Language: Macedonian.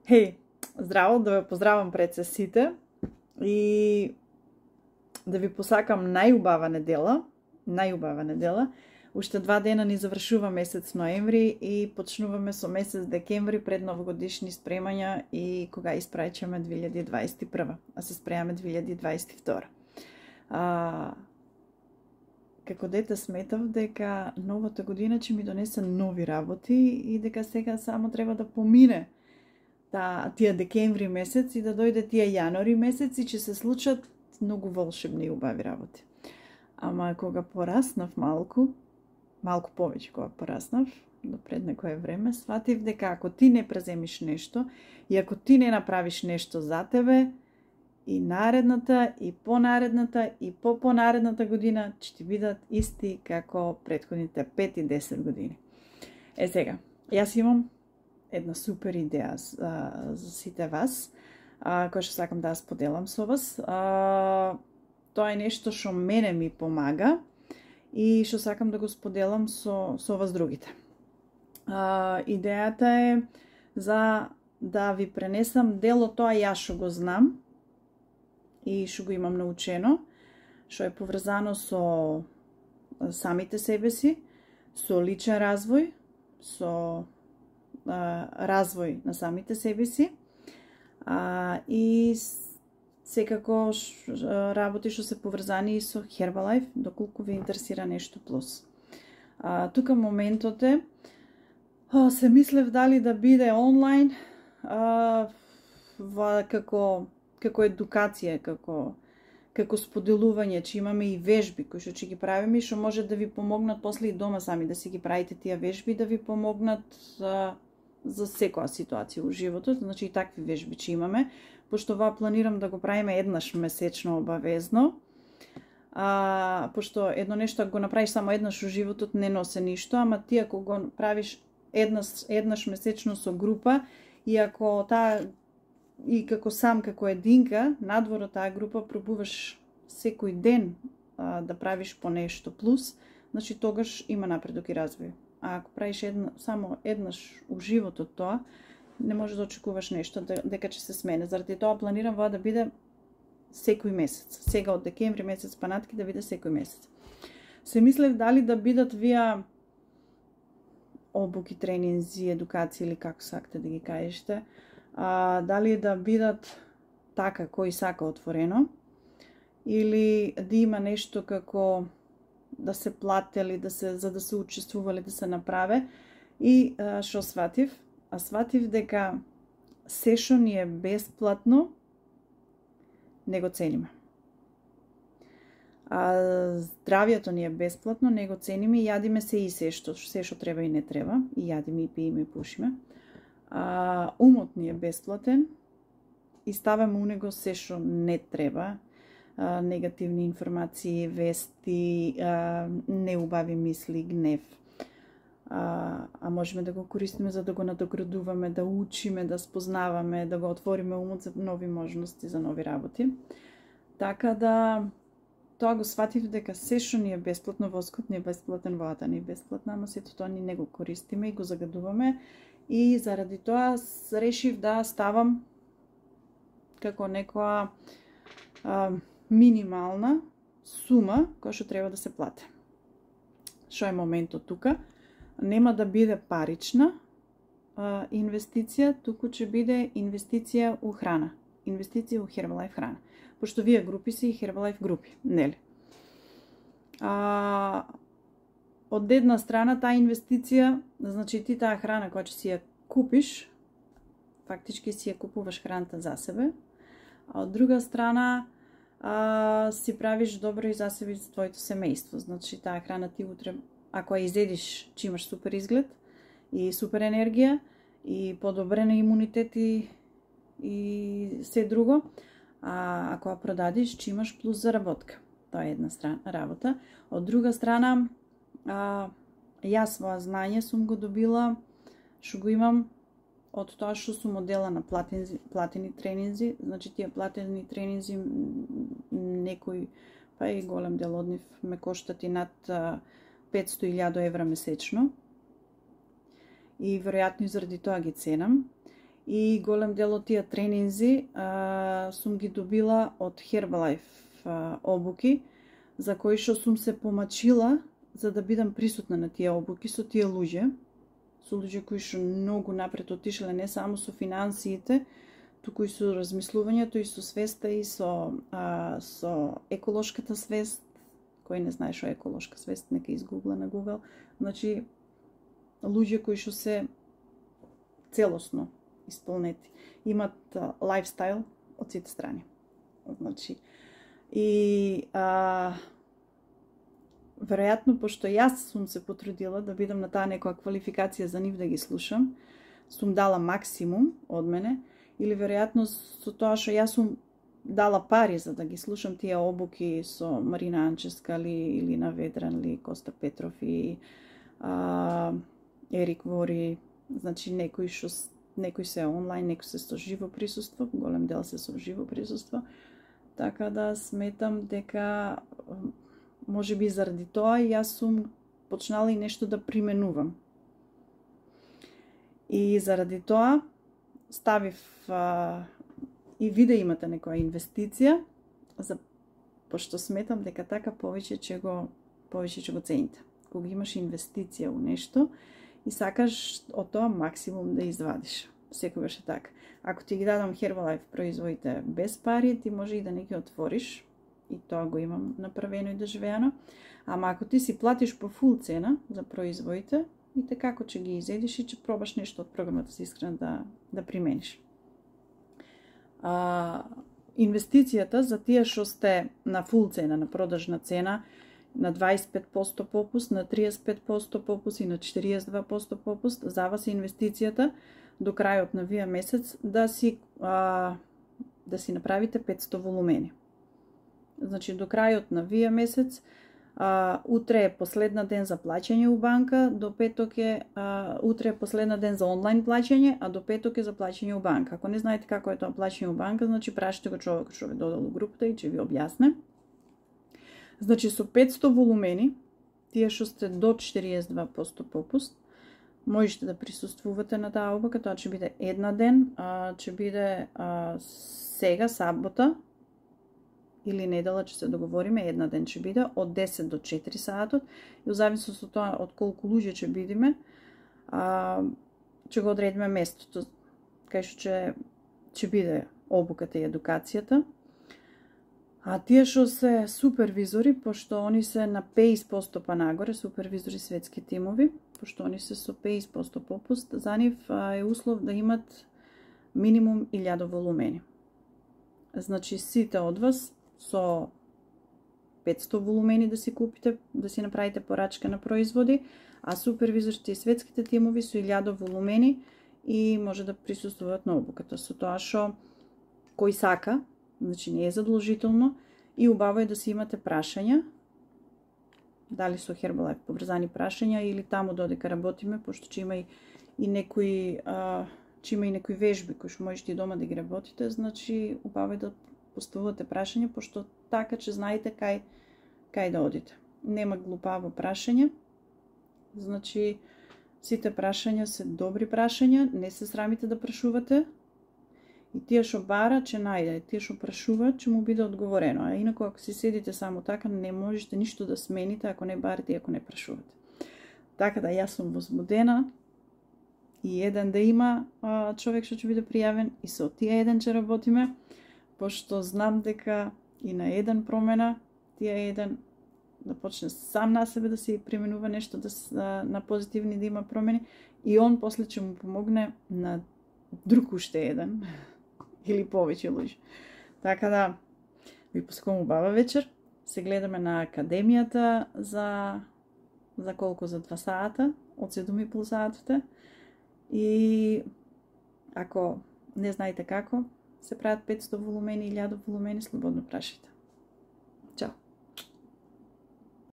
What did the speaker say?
Хеј, здраво, да ве поздравам пред се сите и да ви посакам најубава недела. Уште 2 дена ни завршува месец ноември и почнуваме со месец декември пред новогодишни спремања и кога испраќаме 2021, а се спремаме 2022. Како дете сметав дека новата година ќе ми донесе нови работи и дека сега само треба да помине тие декември месец и да дојде тие јануари месец и ќе се случат многу волшебни и убави работи. Ама кога пораснав малку повеќе кога пораснав, до пред некое време, сватив дека ако ти не преземиш нешто и ако ти не направиш нешто за тебе, и наредната, и понаредната, и попонаредната година ќе ти бидат исти како претходните 5 и 10 години. Сега, јас имам една супер идеја за сите вас, која што сакам да ја споделам со вас. Тоа е нешто што мене ми помага и што сакам да го споделам со вас другите. Идејата е за да ви пренесам дел од тоа јас што го знам и што го имам научено, што е поврзано со самите себе си, со личен развој, со развој на самите себе си и секако работи што се поврзани и со Herbalife, доколку ви интересира нешто плюс. Тука моментот е, се мислев дали да биде онлайн, како едукација, како споделување, че имаме и вежби кои што ќе ги правиме и што може да ви помогнат после и дома сами да си ги правите тие вежби, да ви помогнат за секоја ситуација во животот. Значи и такви вежби че имаме, пошто ова планирам да го правиме еднаш месечно обавезно. Пошто едно нешто ако го направиш само еднаш во животот не носи ништо, ама ти ако го правиш еднаш месечно со група и ако и како сам, како единка, надвор од таа група пробуваш секој ден да правиш по нешто плюс, значи тогаш има напредок и развој. А ако правиш само еднаш у животот тоа, не можеш да очекуваш нешто дека ќе се смене. Заради тоа планирам ова да биде секој месец. Сега од декември месец панатки да биде секој месец. Се мислев дали да бидат вие обуки, тренинзи, едукации или како сакате да ги кажете, дали да бидат така кој сака отворено или да има нешто како да се платели, за да се учествували, да се направе. И што сватив? Сватив дека се што ни е бесплатно не го цениме. Здравието ни е бесплатно, не го цениме и јадиме се и се што треба и не треба, и јадиме и пиеме и пушиме. Умот ни е бесплатен и ставаме у него се што не треба, негативни информации, вести, неубави мисли, гнев. Можеме да го користиме за да го надоградуваме, да учиме, да спознаваме, да го отвориме умот за нови можности, за нови работи. Така да, тоа го сватив дека се што ни е бесплатно, воскот ни е бесплатен, водата ни е бесплатна, ама сето тоа ни не го користиме и го загадуваме. И заради тоа решив да ставам како некоја минимална сума која што треба да се плати. Што е моментот тука? Нема да биде парична инвестиција, туку ќе биде инвестиција у храна. Инвестиција у Herbalife храна. Пошто вие групи си и Herbalife групи, нели? Од една страна таа инвестиција, значи ти таа храна која ќе си ја купиш, фактички си ја купуваш храната за себе, а од друга страна си правиш добро и за себе и за твоето семејство. Значи таа храна ти утре, ако ја изедиш, че имаш супер изглед и супер енергија и подобрен имунитет и се друго, а ако ја продадиш, че имаш плюс заработка. Тоа е една работа. Од друга страна, јас своја знање сум го добила, што го имам од тоа што сум одела на платени тренинзи. Значи тие платени тренинзи, некој, па и голем дел од нив ме коштат и над 500.000 евра месечно. И веројатно заради тоа ги ценам. и голем дел од тие тренинзи сум ги добила од Herbalife обуки, за кои што сум се помачила за да бидам присутна на тие обуки со тие луѓе, кои што многу напред отишле не само со финансиите, туку и со размислувањето, и со свеста, и со еколошката свест. Кој не знае што е еколошка свест, нека изгугла на Google. Значи, луѓе кои што се целосно исполнети, имат лайфстайл од сите страни. Значи, и веројатно, пошто јас сум се потрудила да бидам на таа некоја квалификација за нив да ги слушам, сум дала максимум од мене, или веројатно со тоа што јас сум дала пари за да ги слушам тие обуки со Марина Анческа или на Ведран, или Коста Петров и Ерик Вори, значи некои се онлайн, некои се со живо присуство, голем дел се со живо присуство, така да сметам дека може би заради тоа јас сум почнала и нешто да применувам. И заради тоа ставив и ви да имате некоја инвестиција, пошто сметам дека така повеќе ќе го цените. Кога имаш инвестиција у нешто и сакаш од тоа максимум да извадиш. Секогаш е така. Ако ти ги дадам Herbalife производите без пари, ти може и да не ги отвориш, и тоа го имам направено и доживеано. Ама ако ти си платиш по фул цена за производите, и така како ќе ги изедиш и ќе пробаш нешто од програмата си искрено да примениш. Инвестицијата за тие што сте на фул цена, на продажна цена, на 25% попуст, на 35% попуст и на 42% попуст, за вас е инвестицијата до крајот на вие месец да си направите 500 волумени. Значи до крајот на вие месец, утре е последна ден за плаќање у банка, до петок е утре е последна ден за онлайн плаќање, а до петок е за плаќање у банка. Ако не знаете како е тоа плаќање у банка, значи прашите го човек што ве додал у групата и ќе ви објасне. Значи со 500 волумени, тие што сте до 42% попуст, можете да присуствувате на таа обука. Тоа ќе биде една ден, ќе биде сега сабота или недела, ќе се договориме, една ден ќе биде од 10 до 4 саатот, и зависност од тоа од колку луѓе ќе бидеме, ќе го одредиме местото кај што ќе биде обуката и едукацијата. А тие што се супервизори, пошто они се на 50% па нагоре, супервизори светски тимови, пошто они се со 50% попуст, за нив е услов да имат минимум 1000 волумени. Значи сите од вас со 500 волумени да си купите, да си направите порачка на производи, а супервизорите и светските тимови со 1000 волумени и може да присуствуваат на обуката. Со тоа што кој сака, значи не е задолжително, и убаво е да си имате прашања, дали со Herbalife поврзани прашања или таму додека работиме, пошто ќе има и некои вежби кои што можете и дома да ги работите, значи убаво е да поставувате прашања, пошто така ќе знаете кај да одите. Нема глупаво прашање, значи сите прашања се добри прашања, не се срамите да прашувате, и тие што бара ќе најде, тие што прашуваат ќе му биде одговорено, а инаку ако си седите само така, не можете ништо да смените ако не барате и ако не прашувате. Така да јас сум возбудена и еден да има човек што ќе биде пријавен и со тие еден ќе работиме, пошто знам дека и на еден промена, тие еден да почне сам на себе да се применува нешто на позитивни, да има промени, и он после ќе му помогне на друг уште еден или повеќе луѓе. Така да ви пускам убава вечер. Се гледаме на академијата за колку, за 2 сата, од 7,5 сатите. И ако не знаете како се прават 500 волумени, 1000 волумени, слободно прашајте.